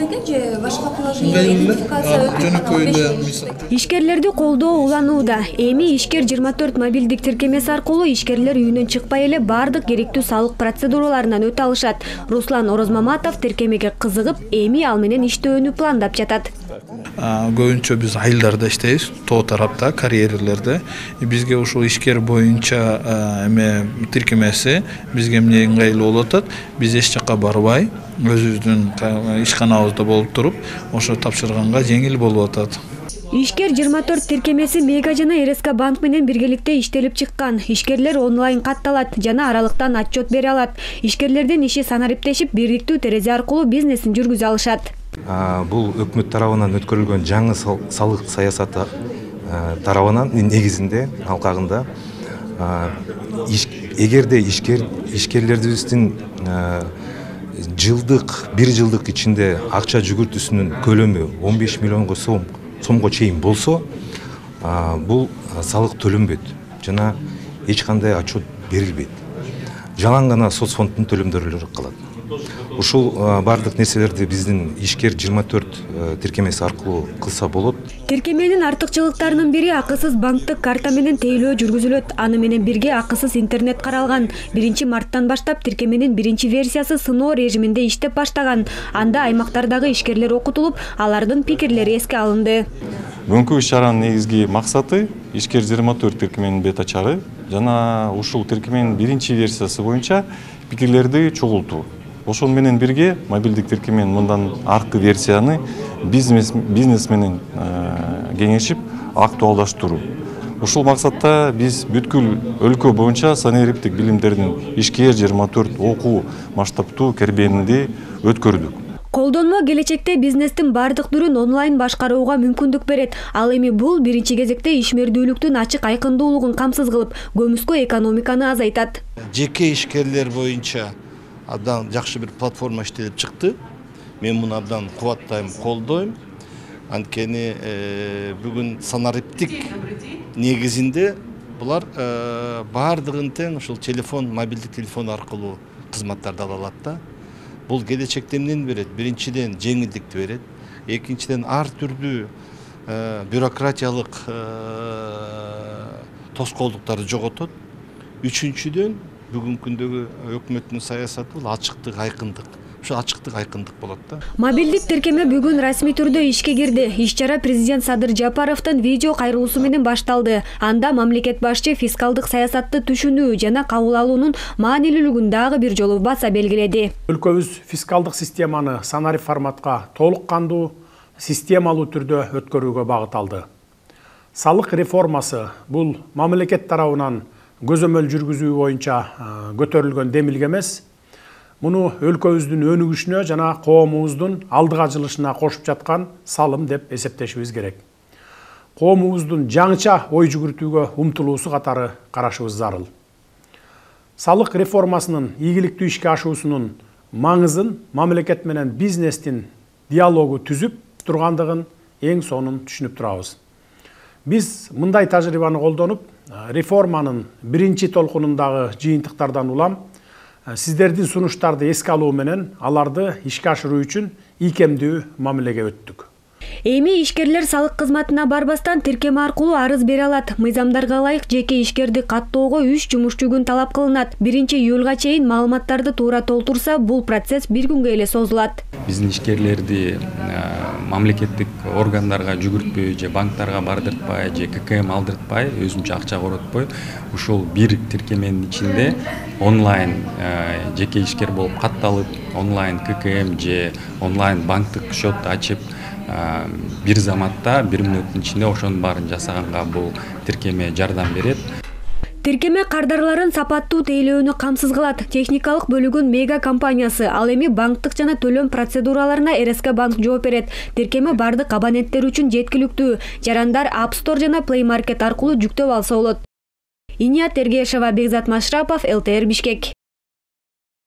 экен же башка приложение идентификация? Ишкерлерди колдоо уланууда. Эми Ишкер 24 мобилдик тиркемеси аркылуу ишкерлер үйүнөн чыкпай эле бардык керектүү салык процедураларынан өтө алышат. Руслан Орозмаматов тиркемеге кызыгып, эми ал менен иштөөнү пландап жатат. Көбүнчө биз айылдарда иштейбиз, тоо тарапта, карьерлерде. Бизге ушул ишкер боюнча тиркемеси бизге эмне ыңгайлуу болуп атат. Биз эч жакка барбай, өзүбүздүн ишканабызда болуп туруп, ошо тапшырганга жеңил болуп атат. Ишкер 24 тиркемеси Мега жана РСК банк менен биргеликте иштелип чыккан. Ишкерлер онлайн катталат жана аралыктан отчет бере алат. Ишкерлердин иши санариптешип, бириктүү терезе аркылуу бизнесин жүргүзө алышат. Бул өкмөт тарабынан өткөрүлгөн жаңы салык саясаты тарабынан негизинде алкагында эгерде ишкерлерибиздин бир жылдык ичинде акча жүгүртүүсүнүн көлөмү 15 миллионго сомго чейин болсо, бул салык төлөнбөйт жана эч кандай отчет берилбейт. Жалаң гана соцфонддун төлөмдөрү калат. Ушул бардык нерселерди биздин Ишкер 24 тиркемеси аркылуу кылса болот. Тиркеменин артыкчылыктарынын бири акысыз банктык карта менен тейлөө жүргүзүлөт. Аны менен бирге акысыз интернет каралган. 1-марттан баштап тиркеменин биринчи версиясы сыноо режиминде иштеп баштаган. Анда аймактардагы ишкерлер окутулуп, алардын пикирлери эске алынды. Бүгүнкү иш-чаранын негизги максаты Ишкер 24 тиркеменин бета-чары жана ушул тиркеменин биринчи версиясы боюнча пикирлерди чогултуу. Ошол менен бирге мобилдик тиркемен мындан аркы версияны бизнес менен кеңешип актуалдаштыруу. Ушул максатта биз бүткүл өлкө боюнча санариптик билимдердин Ишкер 24 окуу масштабтуу кербенинди өткөрдүк. Колдонмо келечекте бизнестин бардык түрүн онлайн башкарууга мүмкүндүк берет. Ал эми бул биринчи кезекте ишмердүүлүктүн ачык айкындуулугун камсыз кылып, көмүскө экономиканы азайтат. Жеке ишкерлер боюнча абдан жакшы бир платформа иштелип чыкты. Мен муну абдан кубаттайм, колдойм. Анткени бүгүн санариптик негизинде булар бардыгын тең ушул телефон, мобилдик телефон аркылуу кызматтарды ала алат да. Бул келечекте эмнени берет? Биринчиден жеңилдикти берет. Экинчиден ар түрдүү бюрократиялык тоскоолдуктарды жоготот. Үчүнчүдөн бүгүнкү күндөгү өкмөттүн саясаты бул ачыктык, айкындык. Ушу ачыктык, айкындык болот да. Мобилдик тиркеме бүгүн расмий түрдө ишке кирди. Иш-чара президент Садыр Жапаровдун видео кайрылуусу менен башталды. Анда мамлекет башчы фискалдык саясатты түшүнүү жана кабыл алуунун маанилүүлүгүн дагы бир жолу баса белгиледи. Өлкөбүз фискалдык системаны санарип форматка толук кандуу, системалуу түрдө өткөрүүгө багыт алды. Салык реформасы бул мамлекет тарабынан көзөмөл жүргүзүү боюнча көтөрүлгөн демилге эмес. Муну өлкөбүздүн өнүгүшүнө жана коомубуздун алдыга жылышына кошуп жаткан салым деп эсептешибиз керек. Коомубуздун жаңыча ой жүгүртүүгө умтулуусу катары карашыбыз зарыл. Салык реформасынын ийгиликтүү ишке ашуусунун маңызын мамлекет менен бизнестин диалогу түзүп тургандыгын эң сонун түшүнүп турабыз. Биз мындай тажрыйбаны колдонуп, реформанын биринчи толкунундагы жыйынтыктардан улам сиздердин сунуштарды эске алуу менен аларды ишке ашыруу үчүн ийкемдүү мамилеге өттүк. Эми ишкерлер салык кызматына барбастан тиркеме аркылуу арыз бере алат. Мыйзамдарга ылайык жеке ишкерди каттоого 3 жумушчу күн талап кылынат. 1-июлга чейин маалыматтарды туура толтурса, бул процесс 1 күнгө эле созулат. Биздин ишкерлерди мамлекеттик органдарга жүгүртпөй же банктарга бардыртпай же ККМ алдыртпай, өзүнчө акча коротпой, ушул бир тиркеменин ичинде онлайн жеке ишкер болуп катталып, онлайн ККМ же онлайн банктык счет ачып, бир заматта 1 мүнөттүн ичинде ошонун баарын жасаганга бул тиркеме жардам берет. Тиркеме кардарларын сапаттуу тейлөөнү камсыз кылат. Техникалык бөлүгүн Мега компаниясы, ал эми банктык жана төлөм процедураларына РСК банк жооп берет. Тиркеме бардык абоненттер үчүн жеткиликтүү. Жарандар App Store жана Play Market аркылуу жүктөп алса болот. Иният Эргешова, Бекзат Машрапов, ЛТР Бишкек.